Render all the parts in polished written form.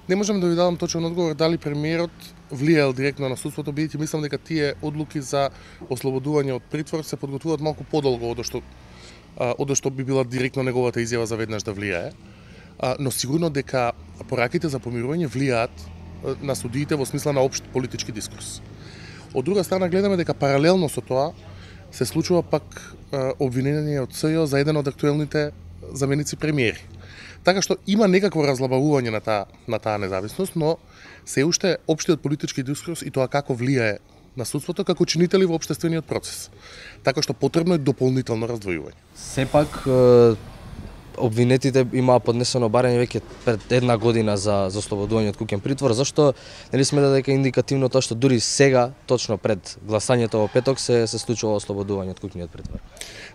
Не можам да ви дадам точен одговор дали премиерот влијаел директно на судството, бидејќи мислам дека тие одлуки за ослободување од притвор се подготвуваат малку подолго од што би била директно неговата изјава за веднаш да влијае. Но сигурно дека пораките за помирување влијаат на судиите во смисла на општ политички дискурс. Од друга страна гледаме дека паралелно со тоа се случува пак обвинение од СЈО за еден од актуелните заменици премиери. Така што има некакво разлабавување на таа независност, но се уште општиот политички дискурс и тоа како влијае на судството како чинители во општествениот процес. Така што потребно е дополнително раздвојување. Сепак обвинетите имаа поднесено барање веќе пред една година за ослободување од куќен притвор. Зашто нели смета дека индикативно тоа што дури сега, точно пред гласањето во петок, се случува ослободување од куќниот притвор?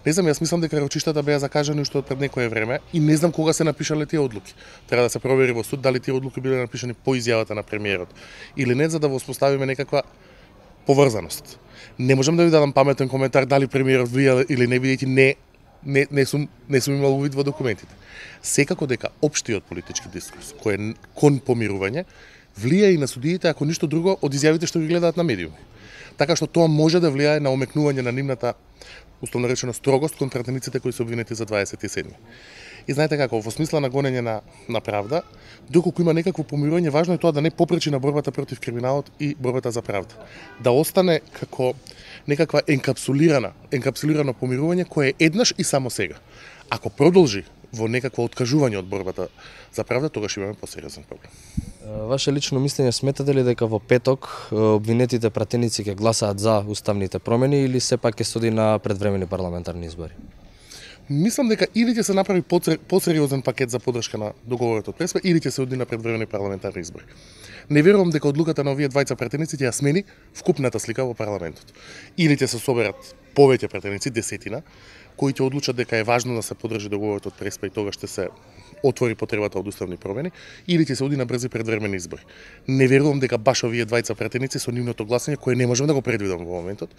Не знам, јас мислам дека рочиштата беа закажани уште пред некое време и не знам кога се напишале тие одлуки. Треба да се провери во суд дали тие одлуки биле напишани по изјавата на премиерот или не, за да воспоставиме некаква поврзаност. Не можам да ви дадам паметен коментар дали премиерот влијал или не, бидејќи не сум имал увид во документите. Секако дека општиот политички дискурс кој е кон помирување влијае и на судиите, ако ништо друго, од изјавите што ги гледаат на медиуми. Така што тоа може да влијае на омекнување на нивната условно речено строгост кон пратениците кои се обвинети за 27. И знаете како, во смисла на гонење на правда, доколку има некакво помирување, важно е тоа да не попречи на борбата против криминалот и борбата за правда. Да остане како некаква енкапсулирано помирување кое е еднаш и само сега. Ако продолжи во некакво откажување од борбата за правда, тогаш имаме посериозен проблем. Ваше лично мислење, сметате ли дека во петок обвинетите пратеници ќе гласаат за уставните промени или сепак ќе се оди на предвремени парламентарни избори? Мислам дека или ќе се направи посериозен пакет за поддршка на договорот од Преспа, или ќе се оди на предвремени парламентарни избори. Не верувам дека одлуката на овие двајца пратеници ќе ја смени вкупната слика во парламентот. Или ќе се соберат повеќе пратеници, 10, кои ќе одлучат дека е важно да се поддржи договорот од Преспа и тогаш ќе се отвори потребата од уставни промени, или ќе се оди на брзи предвремени избори. Не верувам дека баш овие двајца пратеници со нивното гласање, кое не можам да го предвидам во моментот,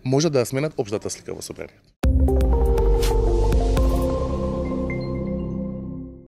може да ја сменат општата слика во собранието.